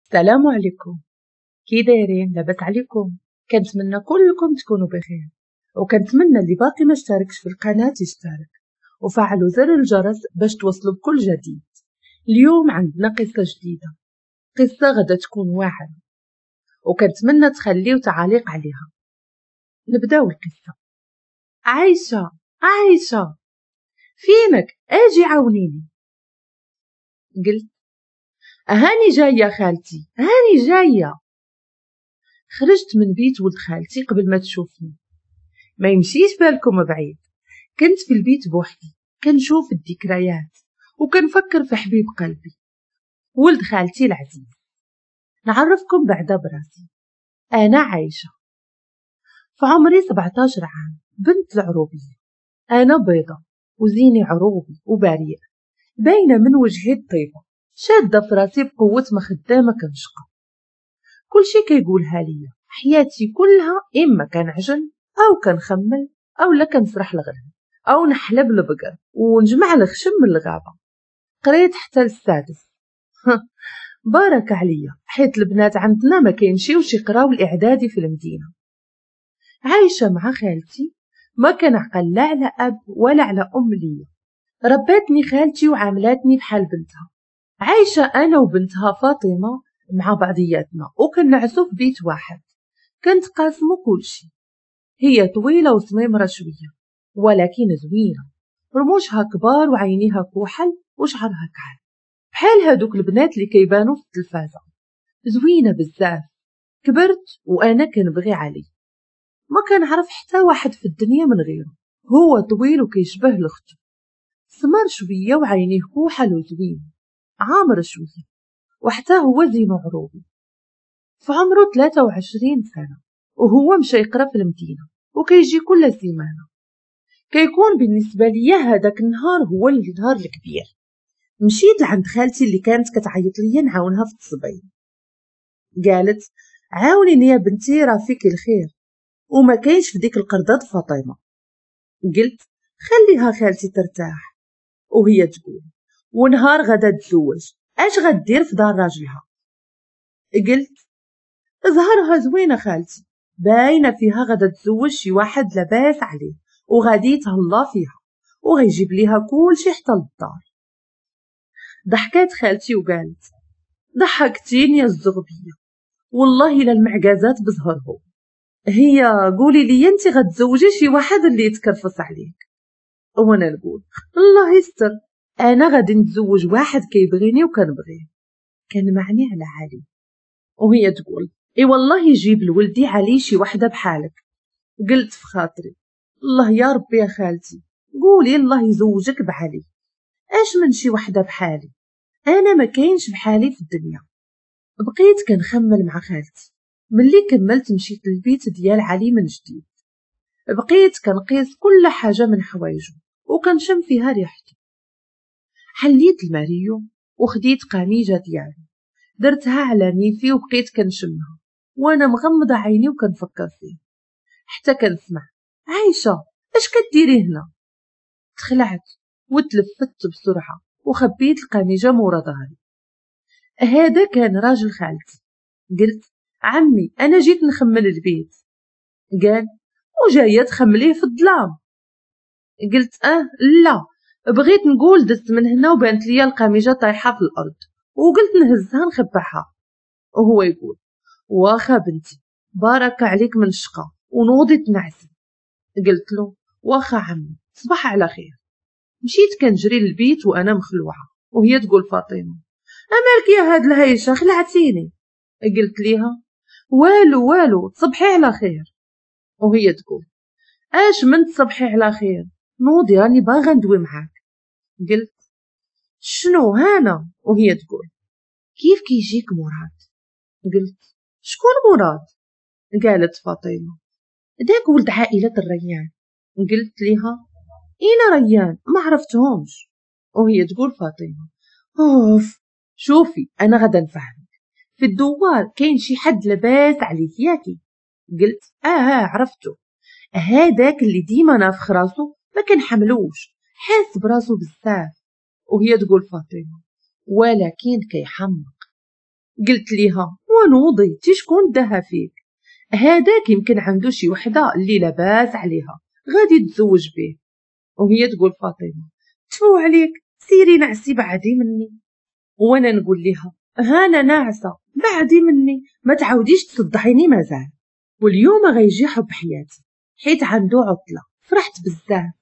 السلام عليكم، كي دايرين؟ لاباس عليكم؟ كنتمنى كلكم تكونوا بخير، وكنتمنى اللي باقي ما اشتركش في القناة يشترك وفعلوا زر الجرس باش توصلوا بكل جديد. اليوم عندنا قصة جديدة، قصة غدا تكون واعرة، وكنتمنى تخليو تعاليق عليها. نبداو القصة. عايشة عايشة فينك؟ اجي عاونيني. قلت هاني جاية خالتي، هاني جاية. خرجت من بيت ولد خالتي قبل ما تشوفني. ما يمشيش بالكم بعيد، كنت في البيت بوحدي كنشوف الذكريات وكنفكر في حبيب قلبي ولد خالتي العزيز. نعرفكم بعدا براسي، أنا عايشة في عمري 17 عام، بنت العروبية. أنا بيضة وزيني عروبي وبريئة، باينة من وجهي الطيبة، شادة في راسي بقوة ما خدامة كنشقى. كلشي كيقولها ليا، حياتي كلها إما كنعجن أو كنخمل أو لا كنسرح الغنم أو نحلب البقر ونجمع الخشم من الغابة. قريت حتى للسادس. بارك عليا، حيت البنات عندنا ما كيمشيوش يقراو الإعدادي في المدينة. عايشة مع خالتي، ما كنعقل لا على أب ولا على أم ليا. رباتني خالتي وعاملاتني بحال بنتها. عايشة أنا وبنتها فاطمة مع بعضياتنا وكنعسو في بيت واحد، كنتقاسمو كلشي. هي طويلة وسميمرة شوية ولكن زوينة، رموشها كبار وعينيها كحل وشعرها كحل بحال هادوك البنات اللي كيبانو في التلفازة. زوينة بزاف. كبرت وأنا كنبغي علي، ما كنعرف حتى واحد في الدنيا من غيره. هو طويل وكيشبه لختو، سمر شوية وعينيه كحل وزوين، عامر شوية، وحتى هو زينو عروبي. في عمره 23 سنة وهو مشى يقرا في المدينة وكيجي كل سيمانة. كيكون بالنسبة ليا هذاك النهار هو النهار الكبير. مشيت لعند خالتي اللي كانت كتعيط ليا نعاونها في التصبين. قالت عاونيني يا بنتي راه فيك الخير وما كاينش في ديك القردة فاطمة. قلت خليها خالتي ترتاح. وهي تقول ونهار غدا تزوج اش غدير في دار راجلها؟ قلت زهرها زوينة خالتي، باينة فيها غدا تزوج شي واحد لاباس عليه وغادي يتهلا فيها وغيجيب ليها كلشي حتى للدار. ضحكات خالتي وقالت ضحكتيني يا الزغبيه، والله الا المعجزات بزهرهم. هي قولي لي انت غتزوجي شي واحد اللي يتكرفص عليك؟ وانا نقول الله يستر، انا غادي نتزوج واحد كيبغيني وكنبغيه. كان معني على علي. وهي تقول اي والله يجيب لولدي علي شي وحده بحالك. قلت في خاطري الله يا ربي يا خالتي، قولي الله يزوجك بعلي، اش من شي وحده بحالي، انا ما كاينش بحالي في الدنيا. بقيت كنخمل مع خالتي. ملي كملت مشيت للبيت ديال علي من جديد. بقيت كنقيس كل حاجة من حوايجو وكنشم فيها ريحته. حليت الماريو وخديت قميجه ديالو، درتها على نيفي وبقيت كنشمها وانا مغمضه عيني وكنفكر فيه، حتى كنسمع عايشه اش كديري هنا؟ تخلعت وتلفت بسرعة وخبيت القميجه مورا ظهري. هذا كان راجل خالتي. قلت عمي انا جيت نخمل البيت. قال وجاية تخمليه في الظلام؟ قلت لا، بغيت نقول دزت من هنا وبانت ليا القميجه طايحة في الارض وقلت نهزها نخبعها. وهو يقول واخا بنتي بارك عليك من الشقة ونوضي تنعسي. قلت له واخا عمي صباح على خير. مشيت كنجري للبيت وانا مخلوعه، وهي تقول فاطمة امالك يا هاد الهيشه خلعتيني. قلت ليها والو والو تصبحي على خير. وهي تقول اش من تصبحي على خير، نوضي راني باغا ندوي معاك. قلت شنو هانا؟ وهي تقول كيف كيجيك مراد؟ قلت شكون مراد؟ قالت فاطمة داك ولد عائلة الريان. قلت ليها اين ريان؟ ما عرفتهمش. وهي تقول فاطمة اوف شوفي انا غدا نفهمك، في الدوار كاين شي حد لاباس عليه ياكي؟ قلت عرفته، هذاك اللي ديما نافخ راسو ما كنحملوش، حاس براسو بزاف. وهي تقول فاطمة ولكن كيحمق. قلت ليها ونوضي تي شكون داها فيك، هذاك يمكن عنده شي وحده اللي لاباس عليها غادي تزوج به. وهي تقول فاطمة تفو عليك، سيري نعسي بعدي مني. وانا نقول لها هانا ناعسه بعدي مني، ما تعاوديش تصدعيني مازال. واليوم غيجي حب حياتي حيت عنده عطله. فرحت بزاف،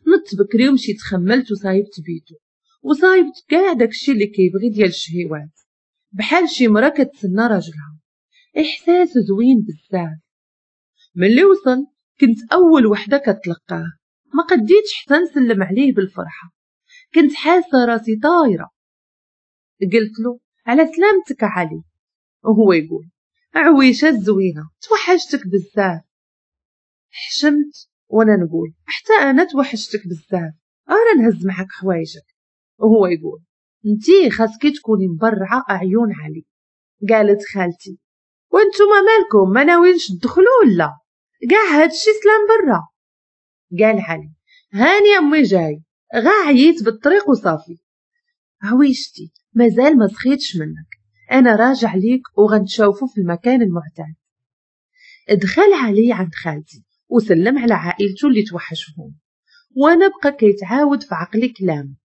نضت بكري ومشيت خملت وصايبت بيتو وصايبت كاع داكشي اللي كيبغي ديال الشهيوات، بحال شي مرا كتسنى راجلها. احساس زوين بزاف. ملي وصل كنت اول وحده كتلقاه، ما قديتش حتى نسلم عليه بالفرحه، كنت حاسه راسي طايره. قلت له على سلامتك علي، وهو يقول عويشه الزوينة توحشتك بزاف. حشمت وانا نقول حتى انا توحشتك بزاف، انا نهز معك حوايجك. وهو يقول انتي خاصكي تكوني مبرعه اعيون علي. قالت خالتي وانتوما مالكم ما ناويينش تدخلوا ولا كاع هادشي سلام برا؟ قال علي هاني امي جاي، غا عييت بالطريق وصافي. عويشتي مازال ما سخيتش منك، انا راجع ليك وغنتشوفوا في المكان المعتاد. دخل علي عند خالتي وسلم على عائلته اللي توحشهم، وانا بقى كيتعاود في عقلي كلام.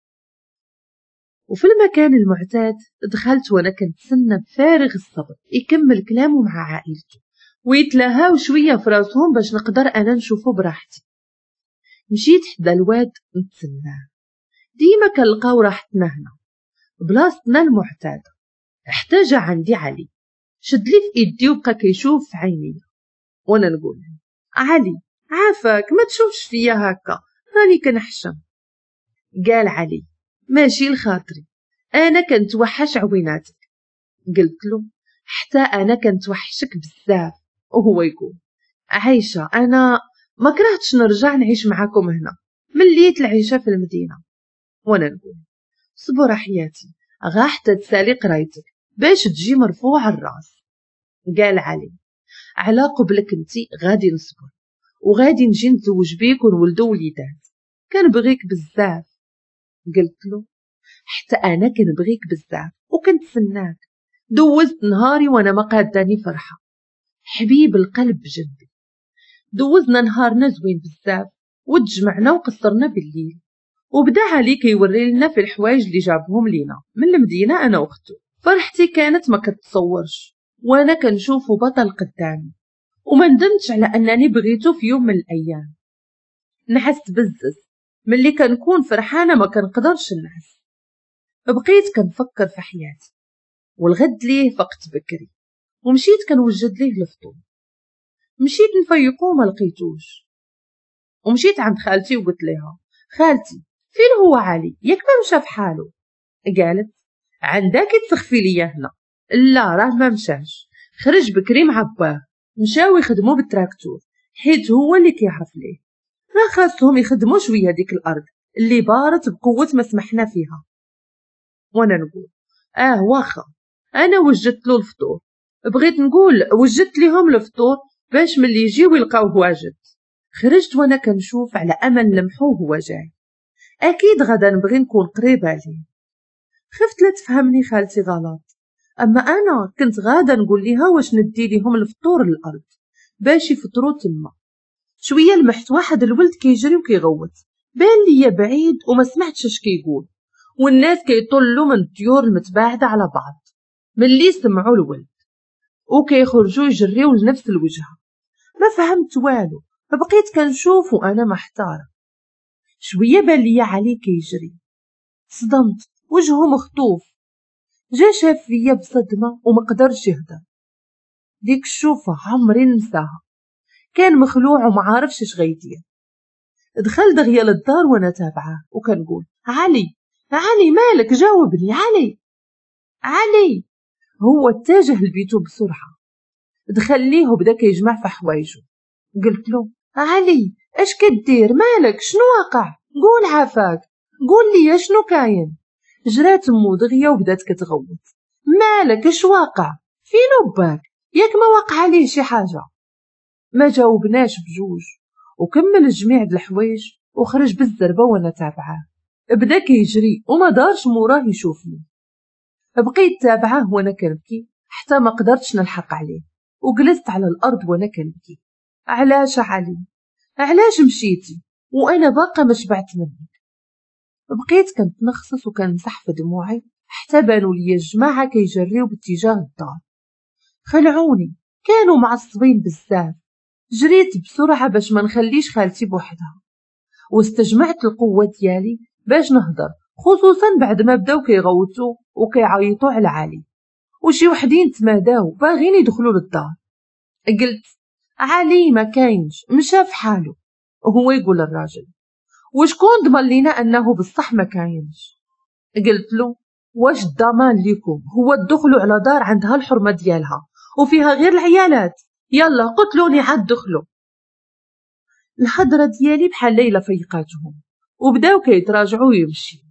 وفي المكان المعتاد دخلت وانا كنتسنى بفارغ الصبر يكمل كلامه مع عائلته ويتلاهاو شوية في راسهم باش نقدر انا نشوفه براحتي. مشيت حدا الواد نتسناه، ديما كنلقاو راحتنا هنا بلاصتنا المعتادة. حتى جا عندي علي، شد لي في ايدي وبقى كيشوف في عيني، وانا نقول علي عافاك ما تشوفش فيا هكا، راني كنحشم. قال علي ماشي لخاطري، انا كنتوحش عويناتك. قلت له حتى انا كنتوحشك بزاف. وهو يقول عايشه انا ما كرهتش نرجع نعيش معاكم هنا، مليت العيشة في المدينة. وانا نقول صبر حياتي غا حتى تسالي قرايتك باش تجي مرفوع الراس. قال علي على قبلك انتي غادي نصبر وغادي نجي نتزوج بيك ونولدو وليدات، كنبغيك بزاف. قلت له حتى انا كنبغيك بزاف وكنتسناك. دوزت نهاري وانا ما قاداني فرحه، حبيب القلب بجنبي. دوزنا نهارنا زوين بزاف وتجمعنا وقصرنا بالليل، وبدا علي كيوري لنا في الحوايج اللي جابهم لينا من المدينة انا واختو. فرحتي كانت ما كتصورش وانا كنشوفو بطل قدامي، وما ندمتش على انني بغيته في يوم من الايام. نحست بزز ملي كنكون فرحانة ما كنقدرش نعس. بقيت كنفكر في حياتي، والغد ليه فقت بكري ومشيت كنوجد ليه الفطور. مشيت نفيقو ما لقيتوش، ومشيت عند خالتي وقلت لها خالتي فين هو علي، ياك ما مشى في حاله؟ قالت عندك تسخفي ليا هنا. لا راه ما مشاش، خرج بكري مع باه، مشاو يخدموا بالتراكتور حيت هو اللي كيعرف ليه، راه خاصهم يخدموا شوية ديك الارض اللي بارت بقوة ما سمحنا فيها. وانا نقول واخا انا وجدت له الفطور، بغيت نقول وجدت لهم الفطور باش ملي يجيو يلقاوه واجد. خرجت وانا كنشوف على امل لمحوه هو جاي، اكيد غدا نبغي نكون قريبه ليه. خفت لا تفهمني خالتي غلط، اما انا كنت غادا نقول ليها واش ندي ليهم الفطور للارض باش يفطروا تما. شوية لمحت واحد الولد كيجري وكيغوت، بان ليا بعيد وما سمعتش اش كيقول، والناس كيطلوا من الديور المتباعده على بعض ملي سمعوا الولد وكيخرجوا يجريو لنفس الوجهة. ما فهمت والو، بقيت كنشوف وانا محتارة. شوية بان ليا علي كيجري، صدمت، وجهه مخطوف. جا شاف فيا بصدمة وما قدرش يهضر. ديك الشوفه عمري ننساها، كان مخلوع وما عارفش اش غيدير. دخل دغيا للدار وانا تابعه وكنقول علي علي مالك، جاوبني علي علي. هو اتجه لبيته بسرعة، دخل ليه وبدا كيجمع في حوايجو. قلت له علي اش كدير، مالك، شنو واقع، قول عافاك، قول لي شنو كاين. جرات مو دغيا وبدات كتغوت مالك، اش واقع، فين باك، ياك ما واقع عليه شي حاجة. ما جاوبناش بجوج، وكمل الجميع د الحوايج وخرج بالزربه وانا تابعاه. بدا كيجري وما دارش موراه يشوفني. بقيت تابعاه وانا كنبكي حتى ما قدرتش نلحق عليه، وجلست على الارض وانا كنبكي. علاش علي؟ علاش مشيتي وانا باقا ما شبعت منك؟ بقيت كنتنخصص وكنمسح في دموعي حتى بانوا لي الجماعة كيجريو باتجاه الدار. خلعوني، كانوا معصبين بزاف. جريت بسرعة باش ما نخليش خالتي بوحدها، واستجمعت القوة ديالي باش نهضر، خصوصا بعد ما بداو كيغوتوا وكيعيطوا على علي، وشي وحدين تماداو باغين يدخلوا للدار. قلت علي ما كاينش، مشى في حاله. وهو يقول الراجل وشكون ضمن لينا انه بصح ما كاينش؟ قلت له واش الضمان ليكم هو تدخلوا على دار عندها الحرمة ديالها وفيها غير العيالات؟ يلا قتلوني عاد دخلوا. الحضرة ديالي بحال ليلى فيقاتهم وبداو كيتراجعوا ويمشي.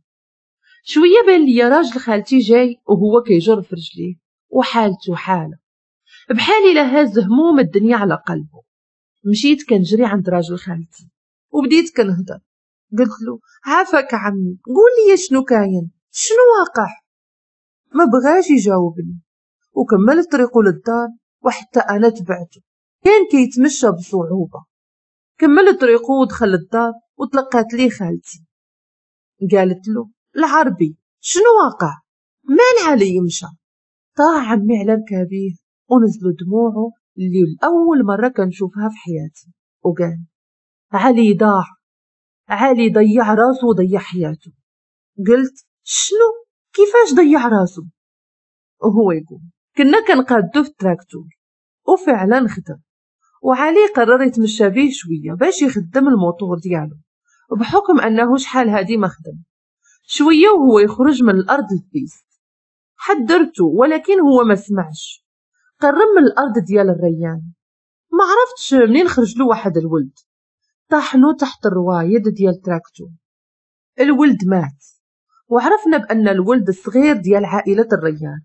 شوية بان ليا راجل خالتي جاي وهو كيجر في رجليه وحالته حاله، بحال الا هاز هموم الدنيا على قلبه. مشيت كنجري عند راجل خالتي وبديت كنهضر. قلت له عافاك عمي، قول لي شنو كاين، شنو واقع؟ ما بغاش يجاوبني وكمل طريقه للدار، وحتى انا تبعته. كان كيتمشى بصعوبة. كمل طريقه ودخل للدار وتلقات لي خالتي. قالت له العربي شنو واقع؟ مال علي مشى؟ طاح عمي على ركابيه ونزلوا دموعه اللي لأول مرة كنشوفها في حياتي، وقال علي ضاع، علي ضيع راسه وضيع حياته. قلت شنو؟ كيفاش ضيع راسه؟ وهو يقول كنا كنقادو في التراكتور، وفعلا خدم، وعلي قرر يتمشى بيه شوية باش يخدم الموتور ديالو، بحكم انه شحال هادي ما خدم. شوية وهو يخرج من الارض ال piste. حذرته ولكن هو ما سمعش. قرب من الارض ديال الريان، ما عرفتش منين خرج له واحد الولد، طاحنو تحت الروايد ديال التراكتور. الولد مات، وعرفنا بان الولد الصغير ديال عائلة الريان.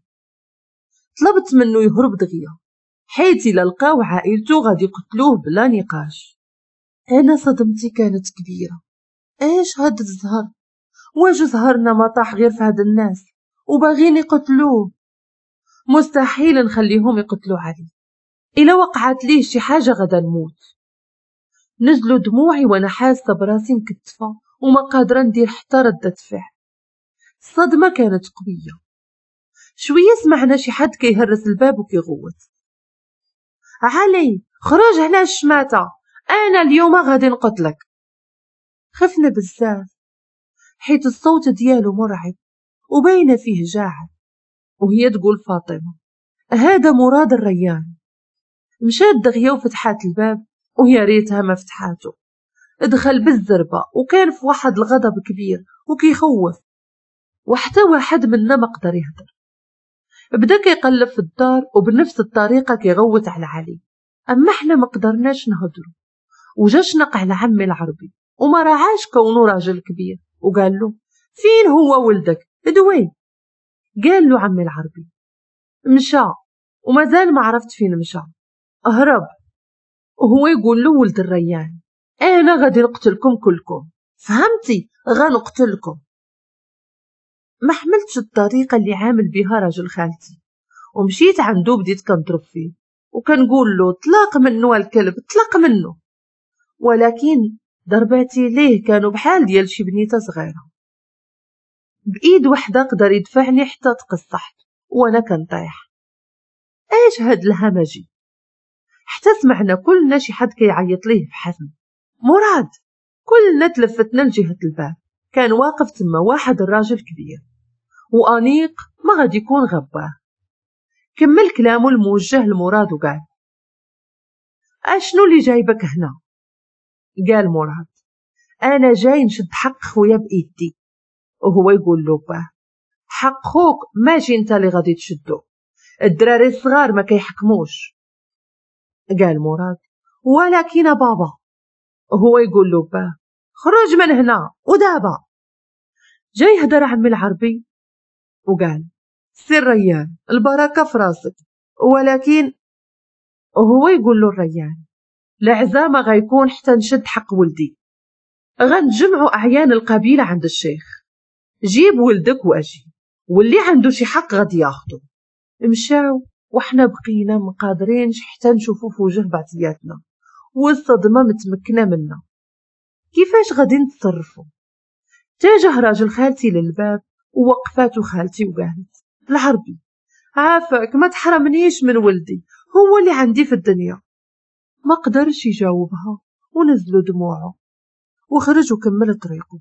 طلبت منه يهرب دغيا، حيت الا لقاو عائلته غادي يقتلوه بلا نقاش. انا صدمتي كانت كبيرة. ايش هاد الزهر؟ واش زهرنا ما طاح غير في هاد الناس وباغين يقتلوه؟ مستحيل نخليهم يقتلوا علي، الا وقعت ليه شي حاجة غدا نموت. نزلوا دموعي وانا حاسه براسي مكتفه وما قادرة ندير حتى ردة فعل. الصدمة كانت قوية. شوية سمعنا شي حد كيهرس الباب وكيغوت علي خرج هنا الشماته، انا اليوم غادي نقتلك. خفنا بزاف حيت الصوت ديالو مرعب وباينه فيه جاعل. وهي تقول فاطمة هذا مراد الريان. مشات دغيا وفتحات الباب، ويا ريتها ما فتحاته. دخل بالزربه وكان في واحد الغضب كبير وكيخوف، وحتى واحد منا ما قدر يهدر. بدا كيقلب في الدار وبنفس الطريقة كيغوت على علي، اما احنا ما قدرناش نهضروا. وجا شنق على عمي العربي وما راعاش كونه راجل كبير، وقال له فين هو ولدك دوي؟ قال له عمي العربي مشى ومازال ما عرفت فين مشى، هرب. وهو يقول له ولد الريان انا غادي نقتلكم كلكم، فهمتي؟ غنقتلكم. ما حملتش الطريقة اللي عامل بها راجل خالتي، ومشيت عنده بديت كنضرب فيه وكنقول له طلق منه الكلب، طلق منه. ولكن ضرباتي ليه كانوا بحال ديال شي بنيته صغيرة. بايد وحده قدر يدفعني حتى تقصحت وانا كنطيح. ايش هاد الهمجي؟ حتى سمعنا كلنا شي حد كيعيط ليه بحزم مراد. كلنا تلفتنا لجهة الباب، كان واقف تما واحد الراجل كبير وانيق، ما غادي يكون غباه. كمل كلامه الموجه لمراد وقال اشنو اللي جايبك هنا؟ قال مراد انا جاي نشد حق خويا بايدي. وهو يقول له باه حق خوك ماشي انت اللي غادي تشدو، الدراري الصغار ما كيحكموش. قال مراد ولكن بابا. وهو يقول له باه خرج من هنا ودابا. جاي يهدر عمي العربي وقال سير ريان البركة في راسك، ولكن. وهو يقول له الريان العزامه غيكون حتى نشد حق ولدي، غنجمعوا اعيان القبيلة عند الشيخ، جيب ولدك واجي، واللي عنده شي حق غادي ياخده. مشاو وحنا بقينا مقادرينش حتى نشوفو في وجه بعضياتنا، والصدمة متمكنة منا. كيفاش غادي نتصرفو؟ تاجه راجل خالتي للباب ووقفاتو خالتي وقالت: العربي عافاك ما تحرمنيش من ولدي، هو اللي عندي في الدنيا. ما قدرش يجاوبها ونزلوا دموعه وخرج وكمل طريقه.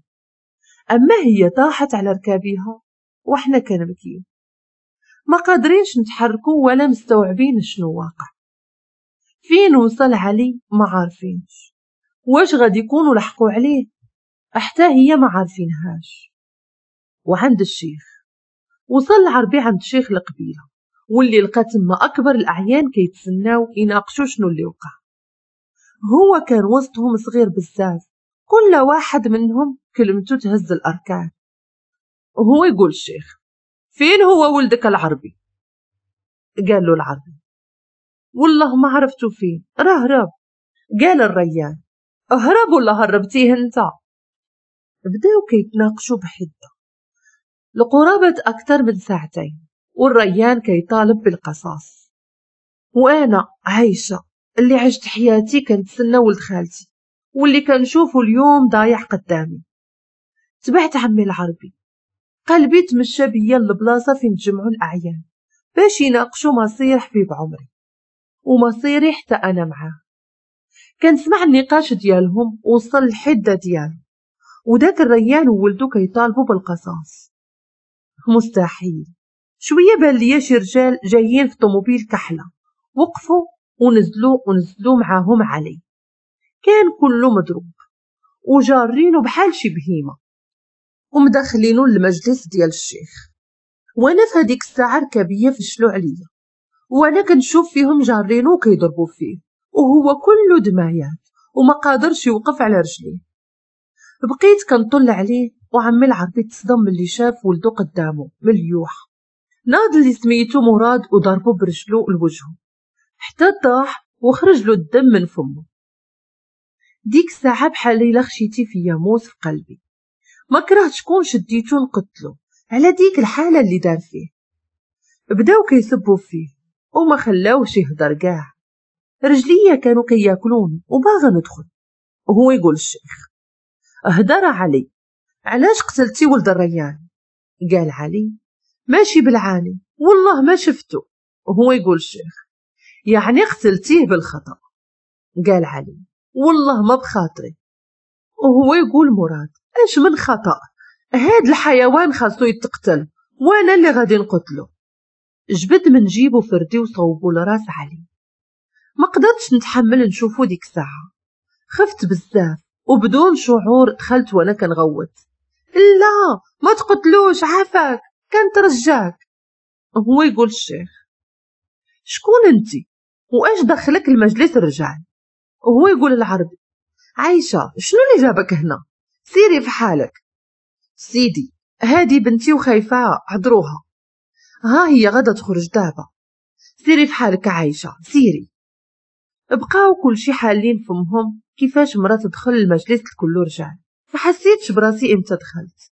أما هي طاحت على ركابيها وحنا كنبكيو، ما قادرينش نتحركوا ولا مستوعبين شنو واقع. فين وصل علي ما عارفينش، واش غادي يكونوا لحقوا عليه حتى هي ما عارفينهاش. وعند الشيخ وصل العربي عند شيخ القبيلة، واللي لقى تما أكبر الأعيان كيتسناو يناقشوا شنو اللي وقع. هو كان وسطهم صغير بزاف، كل واحد منهم كلمته تهز الأركان. وهو يقول الشيخ: فين هو ولدك العربي؟ قال له العربي: والله ما عرفتو فين، راه هرب. قال الريان: هرب ولا هربتيه انت؟ بداو كيتناقشوا بحدة لقرابة أكثر من ساعتين، والريان كيطالب بالقصاص. وأنا عايشة اللي عشت حياتي كنتسنى ولد خالتي، واللي كنشوفه اليوم ضايع قدامي. تبعت عمي العربي، قلبي تمشى بيا للبلاصة فين تجمعوا الأعيان باش يناقشوا مصير حبيب عمري ومصيري حتى أنا معاه. كنسمع النقاش ديالهم وصل الحدة ديالهم، وداك الريان وولدو كيطالبوا بالقصاص. مستحيل. شوية بان ليا شي رجال جايين في طوموبيل كحلة، وقفوا ونزلوا معاهم علي. كان كله مضروب وجارينه بحال شي بهيمة، ومدخلينه للمجلس ديال الشيخ. وانا في هذيك الساعة ركابيه فشلوا عليا، وانا كنشوف فيهم جارينه وكيضربوا فيه، وهو كله دمايات وما قادرش يوقف على رجليه. بقيت كنطل عليه، وعمي العربي تصدم ملي شاف ولدو قدامه مليوح. ناض اللي سميتو مراد وضربو برجلو لوجهه حتى طاح وخرج له الدم من فمه. ديك الساعة بحال الا خشيتي فيا موس في قلبي، ما كرهت شكون شديتو نقتلو على ديك الحالة اللي دار فيه. بداو كيسبوا فيه وما خلاوش يهدر كاع. رجليا كانوا كياكلوني وباغا ندخل. وهو يقول الشيخ: اهدر علي، علاش قتلتي ولد الريان؟ قال علي: ماشي بالعاني، والله ما شفته. وهو يقول الشيخ: يعني قتلتيه بالخطأ؟ قال علي: والله ما بخاطري. وهو يقول مراد: اش من خطأ؟ هاد الحيوان خاصو يتقتل وانا اللي غادي نقتله. جبد من جيبو فردي وصوبو لراس علي. ما قدرتش نتحمل نشوفو ديك الساعة، خفت بزاف وبدون شعور دخلت وانا كنغوت: لا ما تقتلوش، عافاك كنترجاك. هو يقول الشيخ: شكون انتي واش دخلك المجلس الرجال؟ وهو يقول العربي: عايشة شنو اللي جابك هنا؟ سيري في حالك. سيدي هادي بنتي وخايفة عذروها، ها هي غدا تخرج دابا، سيري في حالك عايشة سيري. بقاو كلشي حالين فمهم كيفاش مرا تدخل المجلس الكل رجال. ما حسيتش براسي امتى دخلت،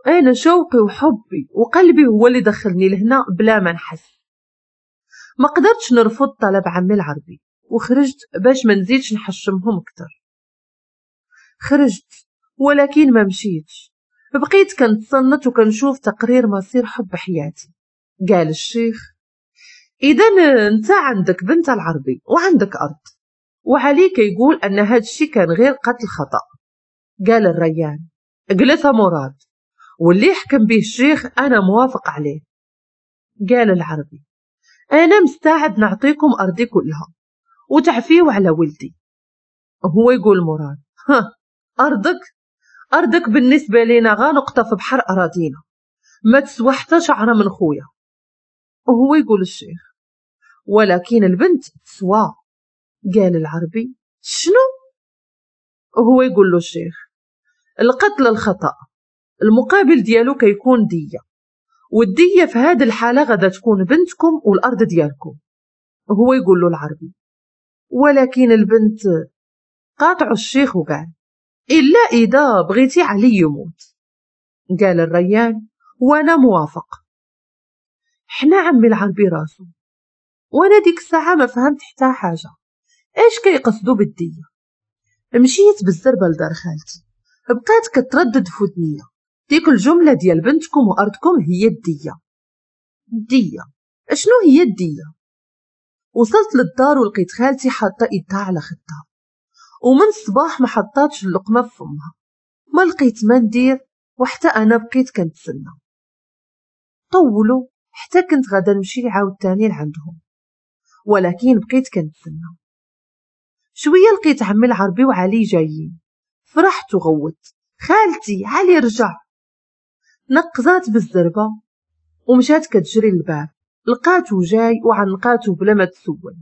انا شوقي وحبي وقلبي هو اللي دخلني لهنا بلا ما نحس. ما قدرتش نرفض طلب عمي العربي وخرجت باش ما نزيدش نحشمهم اكثر. خرجت ولكن ما مشيتش، بقيت كنتصنت وكنشوف تقرير مصير حب حياتي. قال الشيخ: اذا انت عندك بنت العربي وعندك ارض، وعلي كيقول ان هذا الشيء كان غير قتل خطا. قال الريان: اجلس مراد، واللي يحكم به الشيخ انا موافق عليه. قال العربي: انا مستعد نعطيكم ارضي كلها وتعفيو على ولدي. هو يقول مراد: ها ارضك؟ ارضك بالنسبة لينا غا نقطة في بحر اراضينا، ما تسوى حتى شعره من خويا. وهو يقول الشيخ: ولكن البنت تسوى. قال العربي: شنو؟ وهو يقول له الشيخ: القتل الخطأ المقابل ديالو كيكون دية، والدية في هذه الحالة غدا تكون بنتكم والأرض ديالكم. وهو يقول له العربي: ولكن البنت. قاطعوا الشيخ وقال: إلا إذا بغيتي علي يموت. قال الريان: وأنا موافق. حنا عمي العربي راسو وانا ديك الساعة ما فهمت حتى حاجة، اش كيقصدوا بالدية. مشيت بالزربة لدار خالتي، بقات كتردد في ودنيا ديك الجملة ديال بنتكم وأرضكم هي الدية. الدية اشنو هي الدية؟ وصلت للدار ولقيت خالتي حاطة ايدها على خدها، ومن الصباح ما حطاتش اللقمة في فمها. ما لقيت ما ندير، وحتى انا بقيت كنتسنى. طولوا حتى كنت غادا نمشي عاود تاني لعندهم، ولكن بقيت كنتسنى. شوية لقيت عمي العربي وعلي جايين، فرحت وغوت خالتي علي رجع. نقزات بالزربه ومشات كتجري للباب، لقاتو جاي وعنقاتو بلا ما تسول،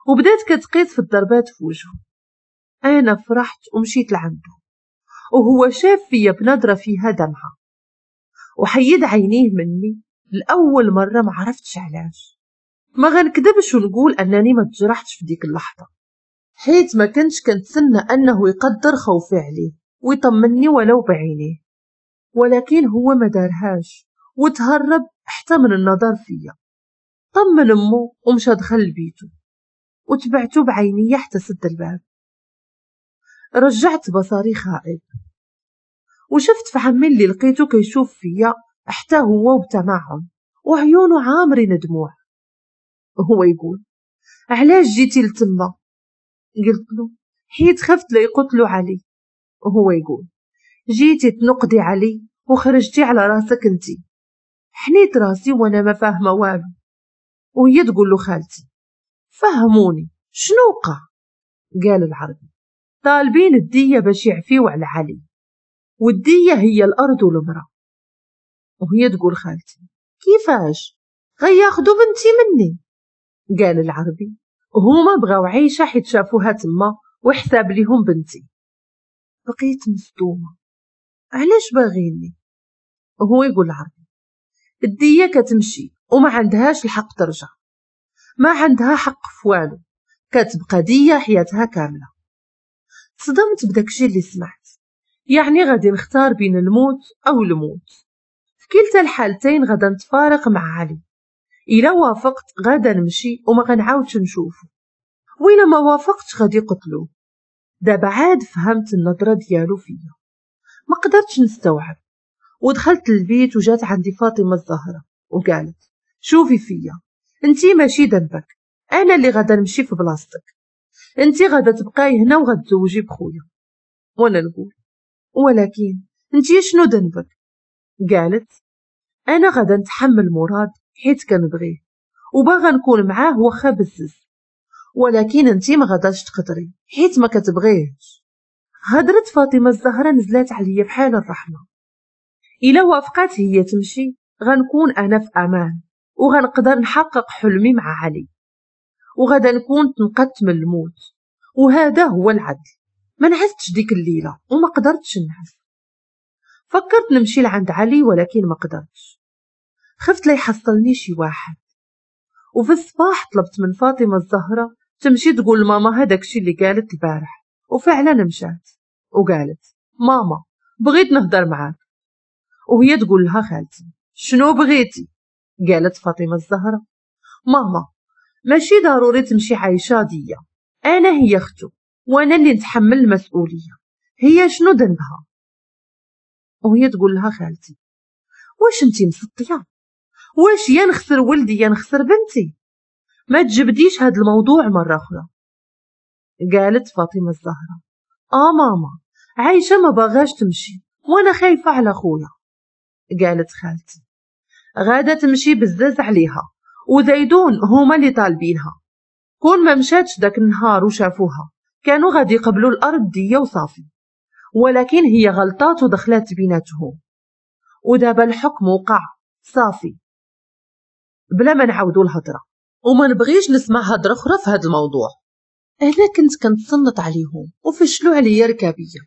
وبدات كتقيس في الضربات في وجهه. انا فرحت ومشيت لعنده، وهو شاف فيا بنظره فيها دمعه وحيد عينيه مني. لأول مرة ما عرفتش علاش، ما غنكذبش ونقول أنني ما تجرحتش في ديك اللحظة، حيت ما كنتش كنتسنى أنه يقدر خوفي عليه ويطمني ولو بعينيه، ولكن هو ما دارهاش وتهرب حتى من النظر فيا. طمن أمه ومشى دخل لبيته، وتبعته بعينيه حتى سد الباب. رجعت بصري خائب وشفت في عمي اللي لقيته كيشوف فيا حتى هو وبتمعن وعيونه عامرين دموع. هو يقول علاش جيتي لتما؟ قلت له حيت خفت لا يقتلوا علي. وهو يقول جيتي تنقدي علي وخرجتي على راسك انتي. حنيت راسي وانا ما فاهمه والو. وهي تقول له خالتي فهموني شنو وقع؟ قال العربي طالبين الدية باش يعفيو على علي، والدية هي الأرض والمرأة. وهي تقول خالتي كيفاش غياخدو بنتي مني؟ قال العربي هما بغاو عيشة حيت شافوها تما وحساب ليهم بنتي. بقيت مصدومة، علاش باغيني؟ وهو يقول العربي الدية كتمشي وما عندهاش الحق ترجع، ما عندها حق في والو، كتبقى دية حياتها كاملة. تصدمت بداكشي اللي سمعت، يعني غادي نختار بين الموت أو الموت. في كلتا الحالتين غادا نتفارق مع علي. إلا وافقت غادا نمشي وما غنعاودش نشوفه، وإلا ما وافقتش غادي يقتلوه. دابا عاد فهمت النظرة ديالو فيا، ما قدرتش نستوعب. ودخلت للبيت وجات عندي فاطمة الزهرة وقالت شوفي فيا، انتي ماشي ذنبك، انا اللي غادا نمشي في بلاصتك، انتي غادا تبقاي هنا وغتزوجي بخويا. وانا نقول ولكن انتي شنو ذنبك؟ قالت انا غادا نتحمل مراد حيت كنبغيه وباغا نكون معاه واخا بزز، ولكن انتي ما غاداش تقدري حيت ما كتبغيهش. هضرت فاطمة الزهرة نزلات عليا بحال الرحمة. الا وافقات هي تمشي غنكون انا في امان وغنقدر نحقق حلمي مع علي، وغادا نكون تنقدت من الموت، وهذا هو العدل. ما نعستش ديك الليلة وما قدرتش نعس. فكرت نمشي لعند علي ولكن ما قدرتش، خفت لا يحصلني شي واحد. وفي الصباح طلبت من فاطمة الزهرة تمشي تقول لماما هذاك الشي اللي قالت البارح، وفعلا مشات وقالت ماما بغيت نهضر معاك. وهي تقول لها خالتي شنو بغيتي؟ قالت فاطمة الزهرة ماما ماشي ضروري تمشي عايشه ديا، انا هي اختو وانا اللي نتحمل المسؤولية، هي شنو ذنبها؟ وهي تقول لها خالتي واش انتي مسطيه؟ واش يا نخسر ولدي يا نخسر بنتي؟ ما تجبديش هاد الموضوع مرة اخرى. قالت فاطمة الزهرة ماما عايشه ما باغاش تمشي وانا خايفة على خويا. قالت خالتي غادا تمشي بزاز عليها، وزيدون هما اللي طالبينها، كون ما مشاتش داك النهار وشافوها كانوا غادي يقبلوا الارض ديا وصافي، ولكن هي غلطات ودخلات بيناتهم، ودابا الحكم وقع صافي بلا ما نعاودوا الهضرة، وما نبغيش نسمع هضره اخرى في هذا الموضوع. انا كنت كنتصنت عليهم وفشلوا عليا ركابيه،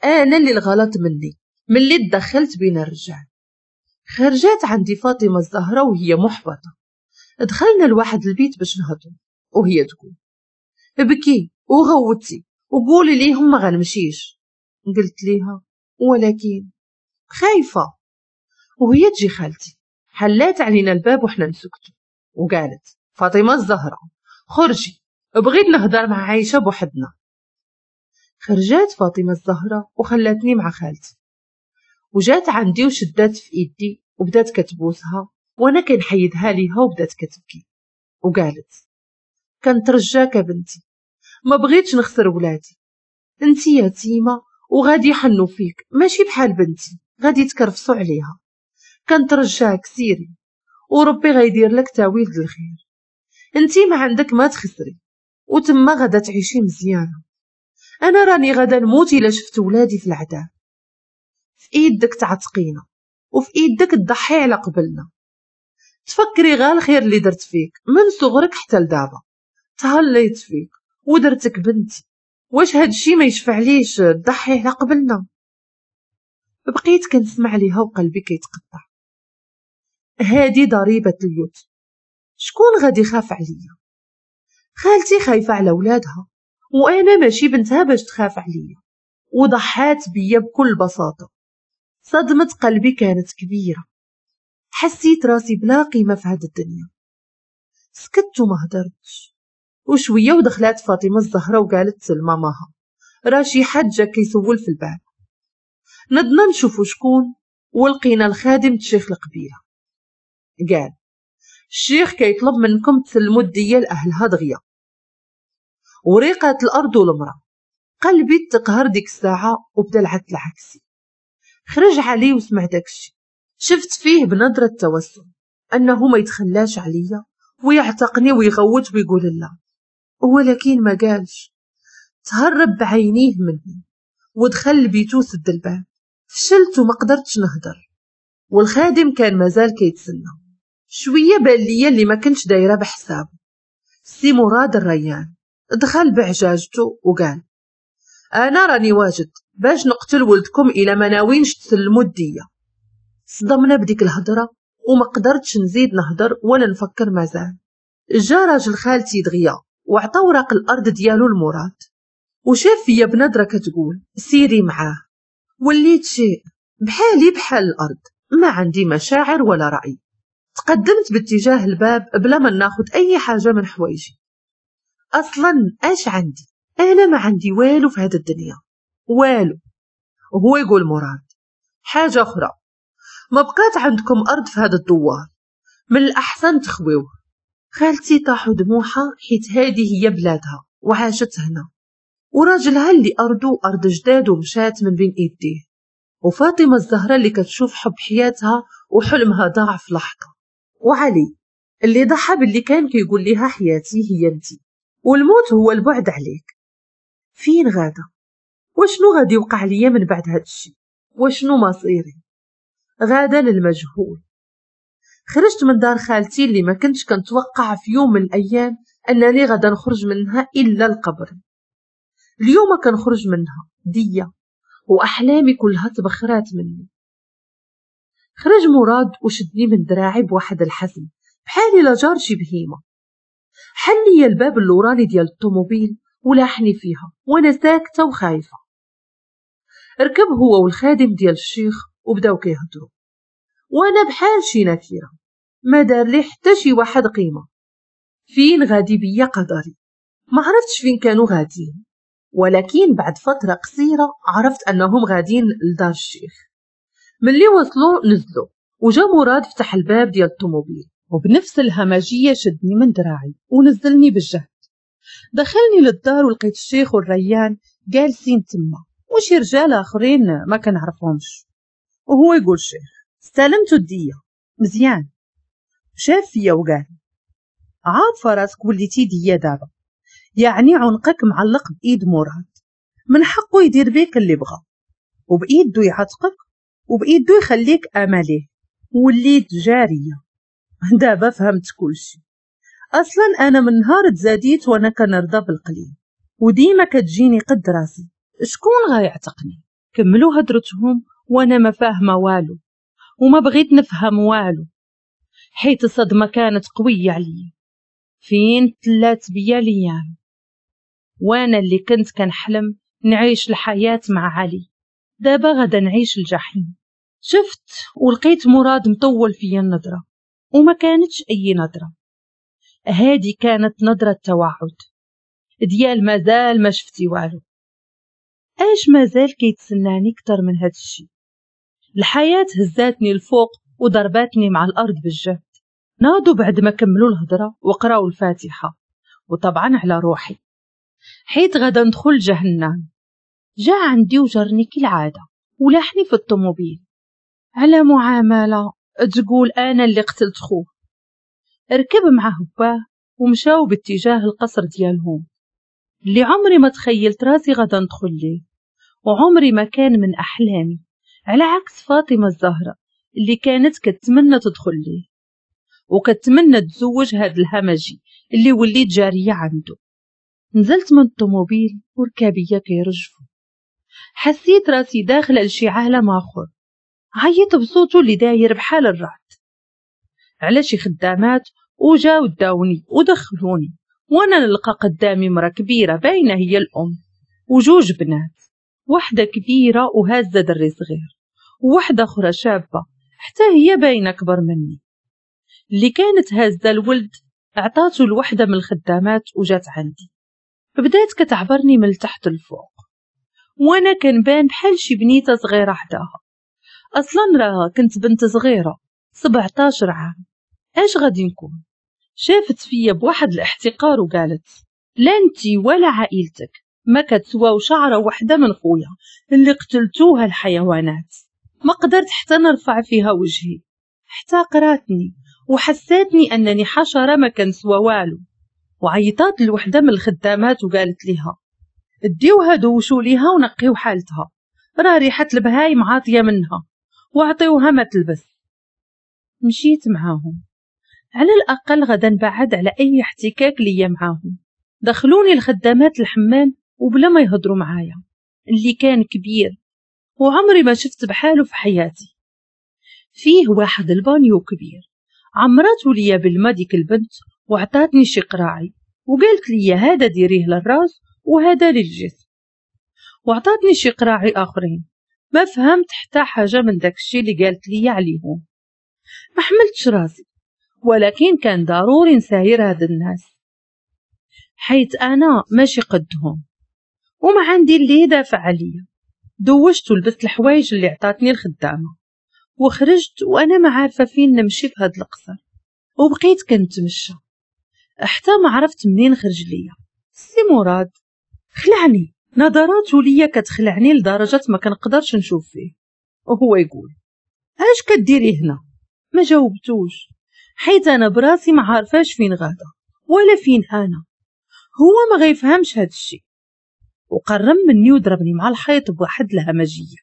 انا اللي الغلط مني ملي تدخلت بين الرجال. خرجات عندي فاطمة الزهرة وهي محبطة، دخلنا لواحد البيت باش نهضروا، وهي تقول بكي وغوتي وقولي ليهم ما غنمشيش. قلت ليها ولكن خايفة. وهي تجي خالتي حلات علينا الباب وحنا نسكتوا، وقالت فاطمة الزهراء خرجي، بغيت نهضر مع عايشه بوحدنا. خرجات فاطمة الزهراء وخلاتني مع خالتي، وجات عندي وشدات في ايدي وبدات كتبوسها وانا كنحيدها ليها وبدات كتبكي وقالت كنترجاك بنتي، ما بغيتش نخسر ولادي، انتي يتيمة وغادي يحنوا فيك، ماشي بحال بنتي غادي تكرفصوا عليها، كنترجاك سيري وربي غيدير لك تاويل د الخير، انتي ما عندك ما تخسري وتما غادا تعيشي مزيانه، انا راني غادا نموت الا شفت ولادي في العذاب، في ايدك تعتقينا وفي ايدك تضحي على قبلنا، تفكري غير الخير اللي درت فيك من صغرك حتى لدابا، تهليت فيك ودرتك بنتي، واش هادشي ما يشفعليش تضحي على قبلنا؟ بقيت كنسمع ليها وقلبي كيتقطع. هادي ضريبة اليتم، شكون غادي يخاف عليا؟ خالتي خايفة على ولادها وانا ماشي بنتها باش تخاف عليا، وضحات بيا بكل بساطة. صدمة قلبي كانت كبيرة، حسيت راسي بلا قيمة في هاد الدنيا. سكت وما هدرتش. وشوية ودخلات فاطمة الزهراء وقالت لماماها راه شي حد جا كيسول في الباب. نضنا نشوفو شكون ولقينا الخادم الشيخ القبيلة. قال الشيخ كيطلب منكم تسلموا الدية لأهلها دغيا وريقات الأرض والمرأة. قلبي تقهر ديك الساعة وبدا العد العكسي. خرج علي وسمع داكشي، شفت فيه بنظرة توسل أنه ما يتخلاش عليا ويعتقني ويغوت ويقول لا، ولكن ما قالش. تهرب بعينيه مني ودخل لبيتو سد الباب. فشلت وما قدرتش نهضر، والخادم كان مازال كيتسنى. شوية بان ليا اللي ما كنتش دايرة بحسابه سي مراد الريان. دخل بعجاجته وقال انا راني واجد باش نقتل ولدكم الى ما ناوينش تسلموا الدية. صدمنا بديك الهضرة وما قدرتش نزيد نهضر ولا نفكر مازال. جا راجل خالتي دغيا وعطى وراق الارض ديالو لمراد وشاف فيا بنظره كتقول سيري معاه. وليت شيء بحالي بحال الارض، ما عندي مشاعر ولا راي. تقدمت باتجاه الباب بلا ما ناخذ اي حاجة من حوايجي. اصلا اش عندي؟ انا ما عندي والو في هذه الدنيا، والو. وهو يقول مراد حاجة اخرى، ما بقات عندكم ارض في هذا الدوار، من الاحسن تخويوه. خالتي طاحوا دموعها حيت هذه هي بلادها وعاشت هنا، وراجلها اللي ارضو ارض جداد ومشات من بين ايديه، وفاطمة الزهراء اللي كتشوف حب حياتها وحلمها ضاع في لحظة، وعلي اللي ضحى باللي كان كيقول لها حياتي هي انتي والموت هو البعد عليك. فين غادا؟ وشنو غادي يوقع ليا من بعد هاد الشيء؟ وشنو مصيري؟ غادا للمجهول. خرجت من دار خالتي اللي ما كنتش كنتوقع في يوم من الايام انني غادا نخرج منها الا القبر. اليوم كنخرج منها دية واحلامي كلها تبخرات مني. خرج مراد وشدني من دراعي بواحد الحزم بحال الا جار شي بهيمة. حل لي الباب اللوراني ديال الطوموبيل ولاحني فيها وانا ساكته وخايفة. ركب هو والخادم ديال الشيخ وبداو كيهضروا وانا بحال شي نكره، ما دار لي حتى شي واحد قيمة. فين غادي بيا قدري؟ ما عرفتش فين كانوا غاديين، ولكن بعد فترة قصيرة عرفت انهم غاديين لدار الشيخ. ملي وصلوا نزلوا وجا مراد فتح الباب ديال الطوموبيل وبنفس الهمجية شدني من دراعي ونزلني بالجهد. دخلني للدار ولقيت الشيخ والريان جالسين تما وشي رجال اخرين ما كنعرفهمش. وهو يقول الشيخ استلمتو الدية مزيان. شاف فيا وقال عارفه راسك وليتي ديه دابا، يعني عنقك معلق بايد مراد، من حقه يدير بيك اللي بغى وبايده يعتقك وبايده يخليك اماليه. وليت جارية دابا، فهمت كلشي. اصلا انا من نهار تزاديت وانا كنرضى بالقليل وديما كتجيني قد راسي، شكون غيعتقني؟ كملوا هدرتهم وانا ما فاهمه والو وما بغيت نفهم والو، حيت الصدمة كانت قوية عليا. فين تلات بيا الايام وانا اللي كنت كنحلم نعيش الحياة مع علي، دابا غادا نعيش الجحيم. شفت ولقيت مراد مطول فيا النظرة وما كانتش اي نظره، هادي كانت نظرة توعد ديال مازال ما شفتي والو. اش مازال كيتسناني اكثر من هاد الشي؟ الحياة هزاتني الفوق وضرباتني مع الارض بالجهد. ناضوا بعد ما كملوا الهضرة وقراوا الفاتحة، وطبعا على روحي حيت غدا ندخل جهنم. جا عندي وجرني كالعادة ولاحني في الطوموبيل على معاملة تقول انا اللي قتلت خوه. ركب معه باه ومشاو باتجاه القصر ديالهم اللي عمري ما تخيلت راسي غدا ندخل ليه، وعمري ما كان من احلامي، على عكس فاطمة الزهراء اللي كانت كتمنى تدخل ليه وكتمنى تزوج هاد الهمجي اللي وليت جارية عنده. نزلت من الطوموبيل وركابيه كيرجفوا، حسيت راسي داخله لشي عالم اخر. عيط بصوته اللي داير بحال الرعد على شي خدامات وجاو داوني ودخلوني، وانا نلقى قدامي مرا كبيرة باينة هي الام وجوج بنات، واحدة كبيرة وهازه دري صغير، وواحدة اخرى شابه حتى هي باينة كبر مني. اللي كانت هازه الولد عطاتو لوحده من الخدامات وجات عندي، بدات كتعبرني من تحت الفوق، وانا كنبان بحال شي بنيته صغيرة حداها. اصلا راه كنت بنت صغيرة 17 عام، اش غادي نكون؟ شافت فيا بواحد الاحتقار وقالت لا انتي ولا عائلتك ما كتسواو شعره وحده من خويا اللي قتلتوها الحيوانات. ما قدرت حتى نرفع فيها وجهي، حتى قراتني وحساتني انني حشرة ما كنسوا والو. وعيطات لوحده من الخدامات وقالت لها ديوها دوشوا ليها ونقيو حالتها، راه ريحه البهايم عاطيه منها، وعطيوها ما تلبس. مشيت معاهم، على الاقل غدا نبعد على اي احتكاك ليا معاهم. دخلوني الخدامات الحمام وبلا ما يهضروا معايا، اللي كان كبير وعمري ما شفت بحاله في حياتي. فيه واحد البانيو كبير، عمرته ليا بالما ديك البنت وعطاتني شي قراعي وقالت لي هذا ديريه للراس وهذا للجسم، وعطاتني شي قراعي اخرين. ما فهمت حتى حاجة من داك الشي اللي قالت لي عليهم، ما حملتش راسي، ولكن كان ضروري نساير هاد الناس حيت انا ماشي قدهم وما عندي اللي يدافع عليا. دوشت ولبست الحوايج اللي عطاتني الخدامة وخرجت وانا ما عارفه فين نمشي في هاد القصر، وبقيت كنتمشى حتى ما عرفت منين خرج ليا سي مراد. خلعني نظراته ليا كتخلعني لدرجة ما كنقدرش نشوف فيه، وهو يقول اش كديري هنا؟ ما جاوبتوش حيت انا براسي ما عارفاش فين غادا ولا فين انا، هو ما غيفهمش هاد الشيء. وقرب مني وضربني مع الحيط بواحد الهمجية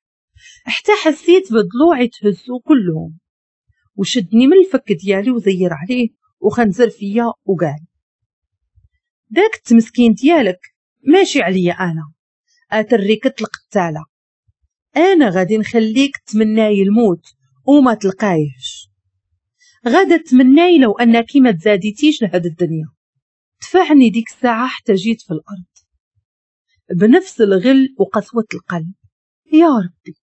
حتى حسيت بضلوعي تهزو كلهم، وشدني من الفك ديالي وزير عليه وخنزر فيا وقال داك التمسكين ديالك ماشي عليا انا، اتريكت القتاله، انا غادي نخليك تمناي الموت وما تلقايهش، غادا تمناي لو انك ما تزاديتيش لهاد الدنيا. دفعني ديك الساعة حتى جيت في الارض بنفس الغل وقسوه القلب. يا ربي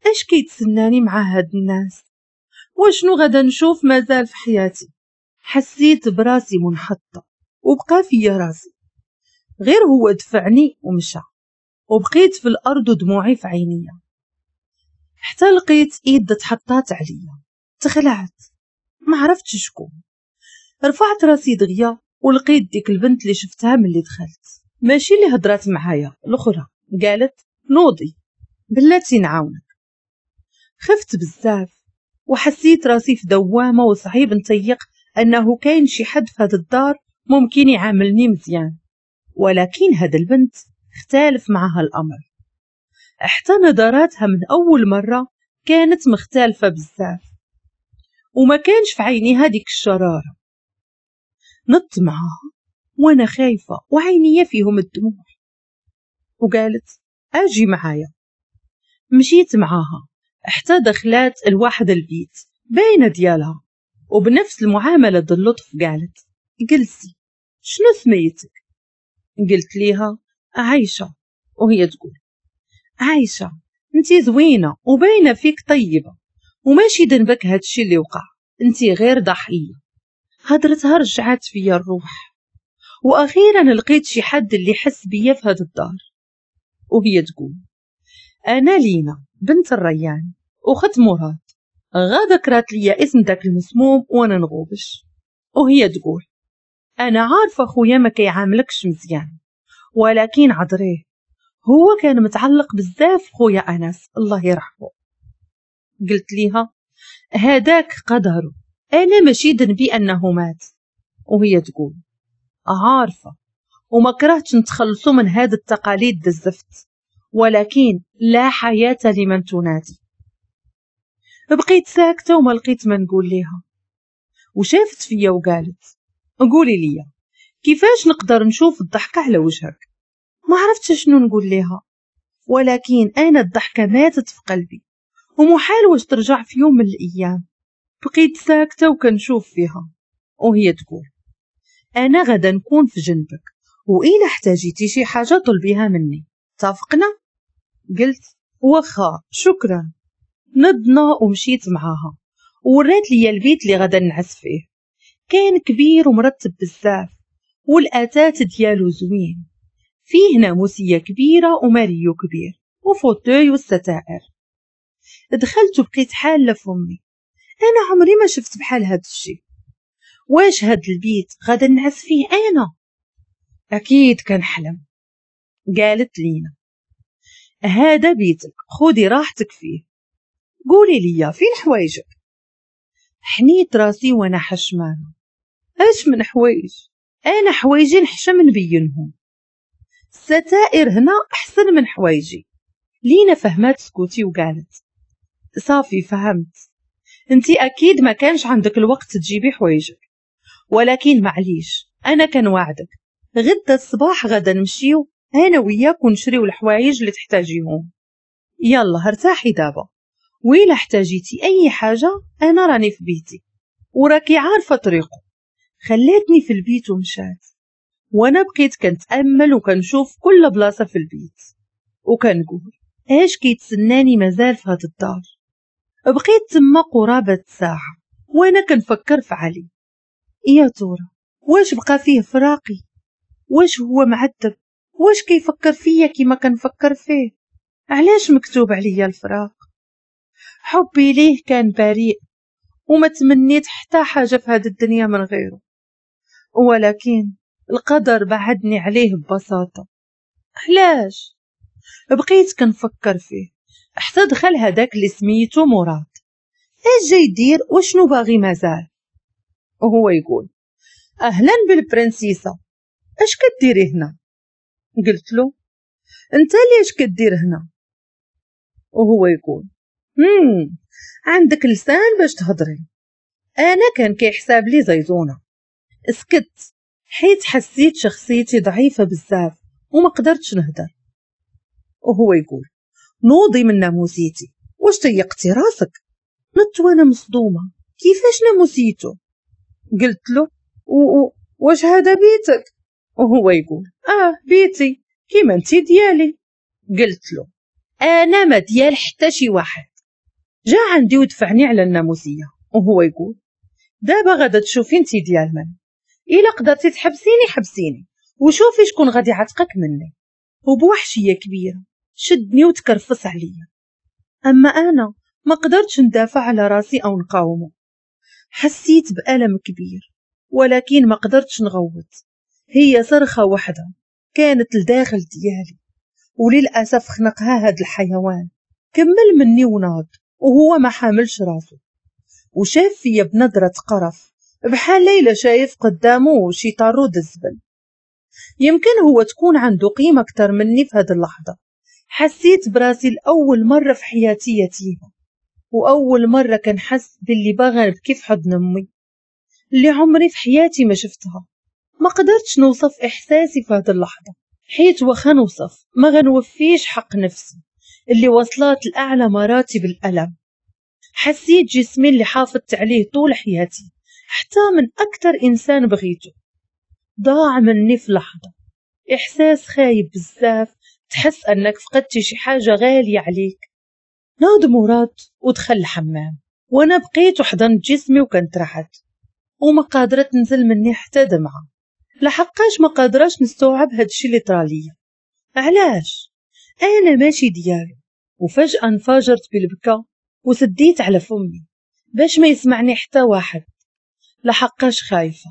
اش كيتسناني مع هاد الناس؟ وشنو غادا نشوف مازال في حياتي؟ حسيت براسي منحطه وبقى فيا راسي، غير هو دفعني ومشى، وبقيت في الارض ودموعي في عينيا حتى لقيت ايد تحطات عليا. تخلعت ما عرفتش شكون. رفعت راسي دغيا ولقيت ديك البنت اللي شفتها ملي دخلت، ماشي اللي هضرات معايا، الاخرى. قالت نوضي بلاتي نعاونك. خفت بزاف وحسيت راسي في دوامه وصعيب نطيق انه كاين شي حد في هاد الدار ممكن يعاملني مزيان، ولكن هاد البنت اختلف معها الامر. حتى نظراتها من اول مرة كانت مختلفة بزاف وما كانش في عينيها ديك الشرارة. نط معاها وانا خايفة وعينيا فيهم الدموع، وقالت اجي معايا. مشيت معاها حتى دخلات الواحد البيت باينة ديالها، وبنفس المعاملة اللطف قالت جلسي شنو سميتك؟ قلت ليها عايشه، وهي تقول عايشه انتي زوينة وباينه فيك طيبة وماشي ذنبك هادشي اللي وقع، انتي غير ضحية. هدرتها رجعت فيا الروح، واخيرا لقيت شي حد اللي حس بيا في هاد الدار. وهي تقول انا لينا بنت الريان اخت مراد، غا ذكرت لي اسم داك المسموم وانا نغوبش. وهي تقول انا عارفه خويا ما كيعاملكش مزيان، ولكن عذريه، هو كان متعلق بزاف خويا انس الله يرحمه. قلت ليها هذاك قدره، انا ماشي ذنبي انه مات. وهي تقول عارفه وما كرهتش نتخلصوا من هاد التقاليد الزفت، ولكن لا حياة لمن تنادي. بقيت ساكته وما لقيت ما نقول ليها. وشافت فيا وقالت قولي لي كيفاش نقدر نشوف الضحكة على وجهك؟ ما عرفتش شنو نقول ليها، ولكن انا الضحكة ماتت في قلبي ومحال واش ترجع في يوم من الايام. بقيت ساكته وكنشوف فيها وهي تقول انا غدا نكون في جنبك، وإلا احتاجيتي شي حاجة طلبيها مني، اتفقنا؟ قلت واخا شكرا. نضنا ومشيت معاها وورات لي البيت اللي غدا نعس فيه. كان كبير ومرتب بزاف والاثاث ديالو زوين، فيه ناموسيه كبيرة وماريو كبير و fauteuil والستائر. دخلت وبقيت حاله فمي، انا عمري ما شفت بحال هاد الشيء. واش هاد البيت غادا نعس فيه انا؟ اكيد كنحلم. قالت لينا هذا بيتك، خذي راحتك فيه، قولي لي فين حوايجك؟ حنيت راسي وانا حشمانه. اش من حوايج؟ انا حوايجي نحشم نبينهم، الستائر هنا احسن من حوايجي. لينا فهمات سكوتي وقالت صافي فهمت، انتي اكيد ما كانش عندك الوقت تجيبي حوايجك، ولكن معليش انا كنوعدك غدا الصباح غدا نمشيو انا وياك ونشريو الحوايج اللي تحتاجيهم. يلا ارتاحي دابا، ويلا احتاجيتي اي حاجة انا راني في بيتي وراكي عارفه طريقه. خلاتني في البيت ومشات، وانا بقيت كنتامل وكنشوف كل بلاصة في البيت وكنقول اش كيتسناني مازال في هاد الدار. بقيت تما قرابة ساعة وانا كنفكر في علي. يا ترى واش بقى فيه فراقي؟ واش هو معذب؟ واش كيفكر فيا كيما كنفكر فيه؟ علاش مكتوب عليا الفراق؟ حبي ليه كان بريء وما تمنيت حتى حاجة في هذه الدنيا من غيره، ولكن القدر بعدني عليه ببساطة. علاش؟ بقيت كنفكر فيه حتى دخل هذاك اللي سميتو مراد. اش جاي يدير وشنو باغي مازال؟ وهو يقول اهلا بالبرنسيسه، اش كديري هنا؟ قلت له انت ليش كدير هنا؟ وهو يقول عندك لسان باش تهضري. انا كان كيحساب لي زيزونه. سكت حيت حسيت شخصيتي ضعيفة بزاف وما قدرتش نهدر. وهو يقول نوضي من ناموسيتي، واش تيقتي راسك؟ نط وانا مصدومة، كيفاش ناموسيتو؟ قلت له واش هذا بيتك؟ وهو يقول بيتي كيما انتي ديالي. قلت له انا ما ديال حتى شي واحد. جا عندي ودفعني على الناموسيه وهو يقول دابا غادا تشوفي انتي ديال من، الا قدرتي تحبسيني حبسيني وشوفي شكون غادي يعتقك مني. وبوحشيه كبيرة شدني وتكرفص عليا. اما انا ما قدرتش ندافع على راسي او نقاومه. حسيت بالم كبير ولكن ما قدرتش نغوت. هي صرخة واحدة كانت لداخل ديالي، وللاسف خنقها هاد الحيوان. كمل مني وناض وهو ما حاملش راسه، وشاف فيا بنظره قرف بحال ليلى شايف قدامه شي طارود الزبل. يمكن هو تكون عنده قيمة أكتر مني في هذه اللحظة. حسيت براسي لأول مرة في حياتي يتيمة، وأول مرة كنحس باللي باغا نبكي في حضن أمي اللي عمري في حياتي ما شفتها. ما قدرتش نوصف إحساسي في هذه اللحظة، حيت واخا نوصف ما غنوفيش حق نفسي اللي وصلت لأعلى مراتب الألم. حسيت جسمي اللي حافظت عليه طول حياتي حتى من أكتر إنسان بغيته ضاع مني في لحظة. إحساس خايب بزاف، تحس أنك فقدتي شي حاجة غالية عليك. ناض مراد ودخل الحمام وأنا بقيت وحضنت جسمي وكنت رحت. وما قادرة تنزل مني حتى دمعة، لحقاش ما قادراش نستوعب هادشي اللي طراليا. علاش انا ماشي ديالو؟ وفجأة انفجرت بالبكا وسديت على فمي باش ما يسمعني حتى واحد، لحقاش خايفة،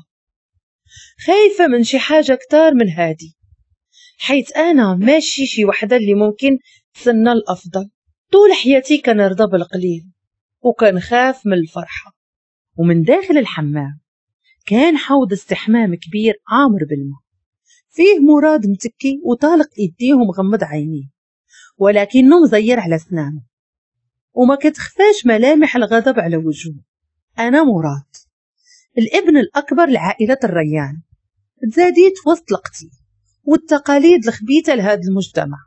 خايفة من شي حاجة كتار من هادي، حيث أنا ماشي شي وحدة اللي ممكن تسنى الأفضل. طول حياتي كنرضى بالقليل وكنخاف من الفرحة. ومن داخل الحمام كان حوض استحمام كبير عامر بالماء، فيه مراد متكي وطالق ايديه ومغمض عينيه، ولكنه مزير على سنانه وما كتخفاش ملامح الغضب على وجهه. أنا مراد، الابن الأكبر لعائلة الريان، تزاديت وسط القتيل والتقاليد الخبيثة لهذا المجتمع.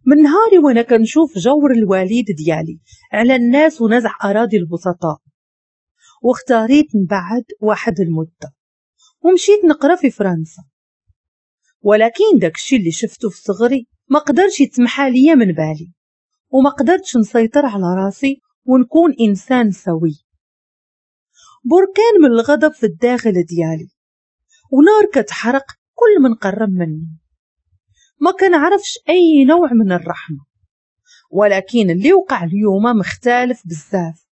من نهاري وانا كنشوف جور الوالد ديالي على الناس ونزع أراضي البسطاء، واختاريت نبعد واحد المدة ومشيت نقرا في فرنسا. ولكن داكشي اللي شفته في صغري ما قدرش يتمحى ليا من بالي، وما قدرتش نسيطر على راسي ونكون إنسان سوي. بركان من الغضب في الداخل ديالي ونار كتحرق كل من قرب مني. ما كنعرفش أي نوع من الرحمة، ولكن اللي وقع اليوم مختلف بزاف.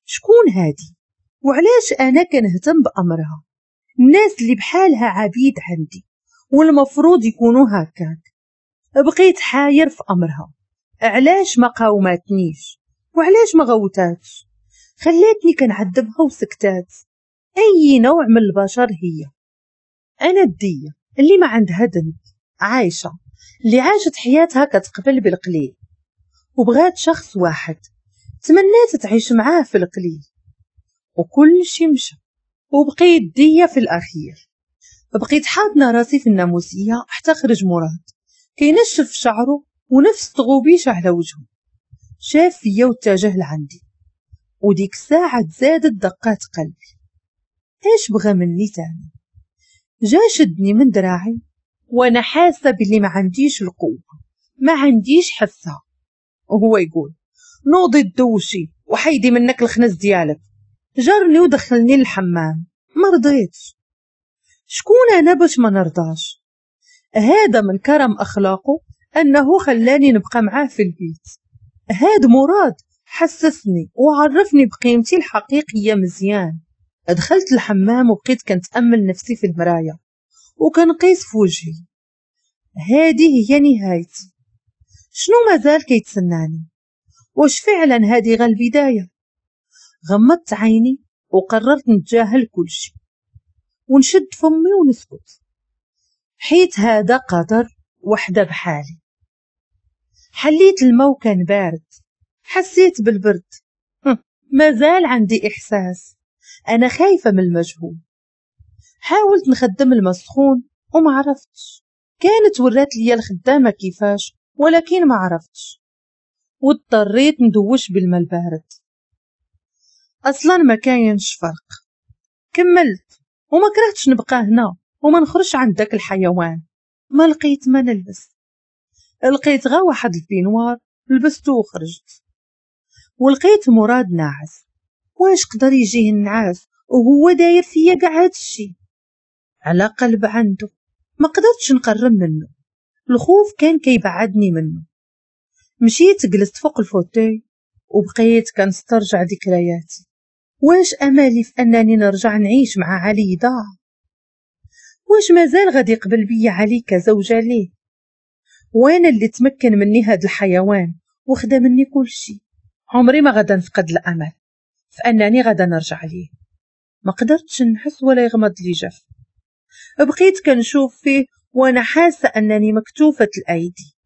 شكون هادي؟ وعلاش أنا كنهتم بأمرها؟ الناس اللي بحالها عبيد عندي والمفروض يكونوا هكاك. بقيت حاير في أمرها، علاش ما قاومتنيش وعلاش ما غوتاتش؟ خلاتني كنعذبها وسكتات. أي نوع من البشر هي؟ أنا الدية اللي ما عندها ذنب، عايشة اللي عاشت حياتها كتقبل بالقليل وبغات شخص واحد تمنات تعيش معاه في القليل، وكل شي مشى وبقيت دية في الأخير. بقيت حاضنة راسي في الناموسية حتى خرج مراد كينشف شعره ونفس تغوبيش على وجهه. شاف فيا واتجه لعندي، وديك الساعة تزادت دقات قلبي. ايش بغى مني تاني؟ جا شدني من دراعي وانا حاسة باللي ما عنديش القوة، ما عنديش حسها. وهو يقول نوضي تدوشي وحيدي منك الخنز ديالك. جرني ودخلني للحمام، ما رضيتش. شكون انا باش ما نرضاش؟ هذا من كرم اخلاقه انه خلاني نبقى معاه في البيت. هاد مراد حسسني وعرفني بقيمتي الحقيقية مزيان. دخلت الحمام وبقيت كنتأمل نفسي في المراية وكنقيس في وجهي. هذه هي نهايتي. شنو مازال كيتسناني؟ واش فعلا هذه غير البداية؟ غمضت عيني وقررت نتجاهل كل شيء ونشد فمي ونسكت، حيت هذا قدر وحده بحالي. حليت الماء وكان بارد، حسيت بالبرد. مازال عندي إحساس أنا خايفة من المجهول. حاولت نخدم الماء سخون وما عرفتش. كانت ورات لي الخدامة كيفاش ولكن ما عرفتش، واضطريت ندوش بالماء البارد. أصلا ما كاينش فرق. كملت وما كرهتش نبقى هنا وما نخرجش عند داك الحيوان. ما لقيت ما نلبس، لقيت غا واحد ال peignoir لبسته وخرجت. ولقيت مراد ناعس. واش قدر يجيه النعاس وهو داير فيا كاع هادشي؟ على قلب عنده ما قدرتش نقرب منه، الخوف كان كيبعدني منه. مشيت جلست فوق ال fauteuil وبقيت كنسترجع ذكرياتي. واش امالي في انني نرجع نعيش مع علي ضاع؟ واش مازال غادي يقبل بيا علي كزوجة ليه؟ وانا اللي تمكن مني هاد الحيوان وخدا مني كل شيء. عمري ما غادا نفقد الامل في انني غادا نرجع ليه. ما قدرتش نحس ولا يغمض لي جف. بقيت كنشوف فيه وانا حاسه انني مكتوفه الايدي.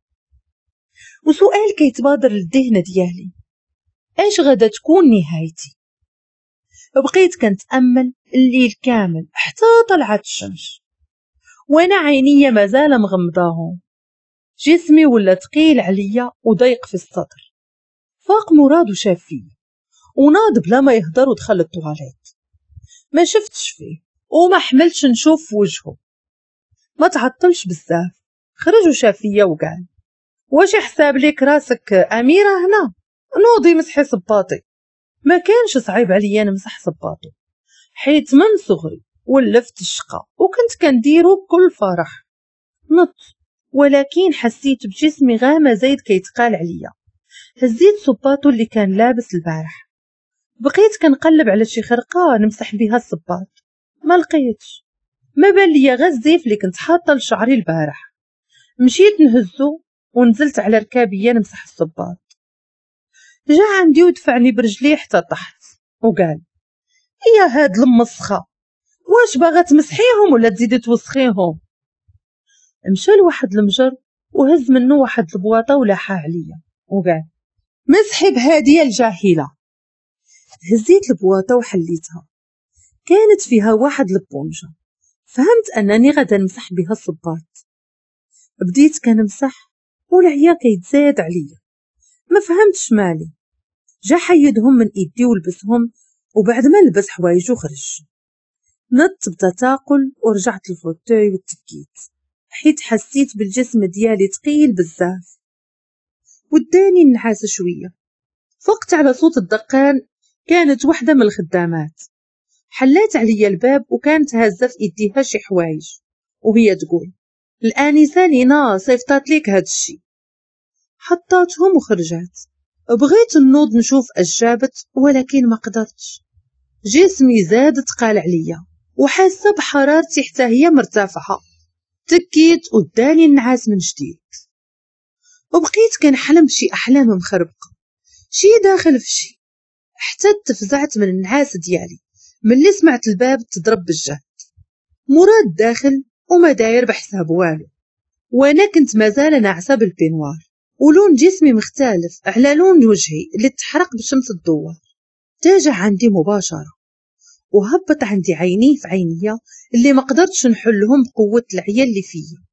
وسؤال كيتبادر للذهن ديالي، اش غادا تكون نهايتي؟ بقيت كنتامل الليل كامل حتى طلعت الشمس وانا عينيا مازال مغمضاهم. جسمي ولا ثقيل عليا وضيق في الصدر. فاق مراد وشاف فيا وناض بلا ما يهضر ودخل الطواليت. ما شفتش فيه وما حملتش نشوف في وجهه. ما تعطلش بزاف، خرج وشاف فيا وقال واش حساب ليك راسك اميره هنا؟ نوضي مسحي صباطي. ما كانش صعيب عليا نمسح صباطو، حيت من صغري ولفت الشقا وكنت كنديرو بكل فرح. نط، ولكن حسيت بجسمي غاما زايد كيتقال عليا. هزيت صباطو اللي كان لابس البارح، بقيت كنقلب على شي خرقه نمسح بها الصباط، ما لقيتش. ما بان ليا غير الزيف اللي كنت حاطه لشعري البارح. مشيت نهزو ونزلت على ركابيه نمسح الصباط. جا عندي ودفعني برجليه حتى طحت وقال: يا هاد المسخه، واش باغا تمسحيهم ولا تزيدي توسخيهم؟ مشى لواحد المجر وهز منه واحد البواطه ولاحها عليا وقال: مسحي بهاديه الجاهله. هزيت البواطه وحليتها، كانت فيها واحد البونجه. فهمت انني غادا نمسح بها الصباط. بديت كنمسح والعيا كيتزاد عليا، ما فهمتش مالي. جا حيدهم من ايدي ولبسهم، وبعد ما لبس حوايجو خرج. نط بتثاقل ورجعت لل fauteuil وتكيت، حيت حسيت بالجسم ديالي ثقيل بزاف وداني النحاس شوية. فقت على صوت الدقان، كانت وحده من الخدامات. حلات عليا الباب وكانت هازه في ايديها شي حوايج وهي تقول: الانسة لينا صيفطات ليك هاد الشي. حطاتهم وخرجات. بغيت نوض نشوف اش جابت ولكن ما قدرتش، جسمي زاد تقال عليا وحاسه بحرارتي حتى هي مرتفعة. تكيت وداني النعاس من جديد، وبقيت كنحلم بشي احلام مخربقه، شي داخل في شي، حتى تفزعت من النعاس ديالي ملي سمعت الباب تضرب بالجهد. مراد داخل وما داير بحساب والو، وانا كنت مازال ناعسه بال peignoir، ولون جسمي مختلف على لون وجهي اللي تحرق بشمس الدوار. تاجه عندي مباشرة وهبط عندي عينيه في عينيا اللي ما قدرتش نحلهم بقوة العيا اللي فيا.